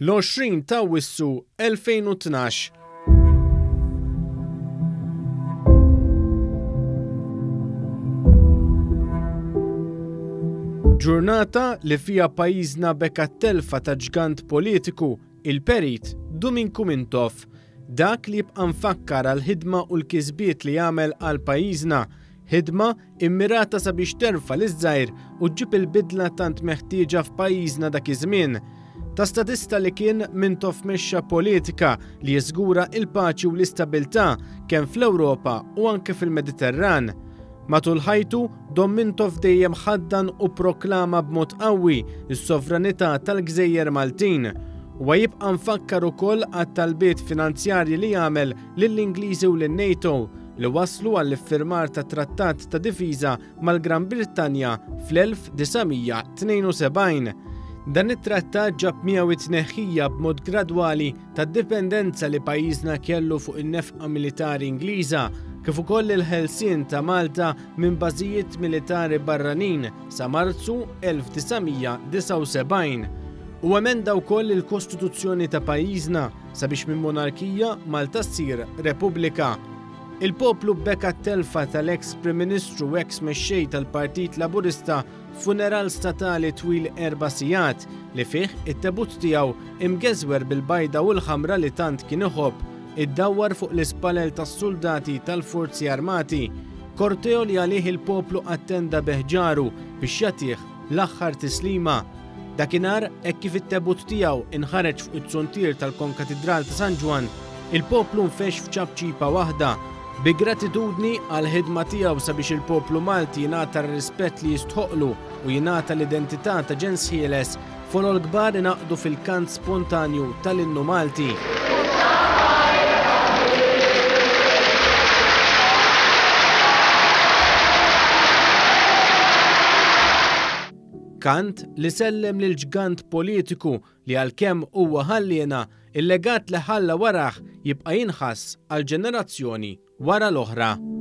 L-20 ta' Awwissu 2012. Ġurnata li fiha pajjiżna beka t-telfa ta' ġgant politiku, il-Perit Duminku Mintoff. Dak li jibqa' mfakkar għall-ħidma u l-kisbiet li għamel għal pajjiżna, ħidma immirata sabiex terfa' liż-żgħir u ġġib il-bidla tant meħtieġa f'pajjiżna dak iż-żmien. Ta' statista li kien Mintoff mexxa politika li jiżgura il-paċi u l-istabilità kemm fl-Ewropa u anke fil-Mediterran. Matul ħajtu, Dom Mintoff dejjem ħaddan u proklama b'mod qawwi s-sovranità tal-gżejjer Maltin. Huwa jibqa' mfakkar ukoll għat-talbiet finanzjarji li għamel lill-Ingliżi u lin-NATO li wasslu għall-iffirmar ta' trattat ta' difiża mal-Gran Brittanja fl-1972. Dan it-trattat ġab miegħu it-tneħħija b'mod gradwali tad-dipendenza li pajjiżna kellu fuq in-nefqa militari Ingliża, kif ukoll il-ħelsien ta' Malta minn bażijiet militari barranin sa Marzu 1979. U emenda wkoll il-Kostituzzjoni ta' pajjiżna sabiex minn monarkija Malta ssir Repubblika. Il-poplu beka t-telfa tal-eks Prim Ministru u eks mexxej tal-Partit Laburista f'funeral statali twil erba' sigħat li fih it-tebut tiegħu imgeżwer bil-bajda u l-ħamra li tant kien iħobb iddawwar fuq l-ispalel tas-suldati tal-Forzi Armati. Korteo li għalih il-poplu attenda bi ħġaru biex jagħtih l-aħħar tislima. Dakinhar, hekk kif it-tebut tiegħu inħareġ fuq iz-zuntier tal-Konkatidral ta' San Ġwann, il-poplu nfexx f'ċapċipa waħda, bi gratitudni għall-ħidma tiegħu sabiex il-poplu Malti jingħata r-rispett li jistħoqqlu u jingħata l-identità ta' ġens ħieles, folol kbar ingħaqdu fil-kant spontanju tal-Innu Malti. Kant li sellem lil ġgant politiku li għalkemm huwa ħalliena, il-legat li ħalla warah jibqa' jinħass għal ġenerazzjoni wara l-oħra.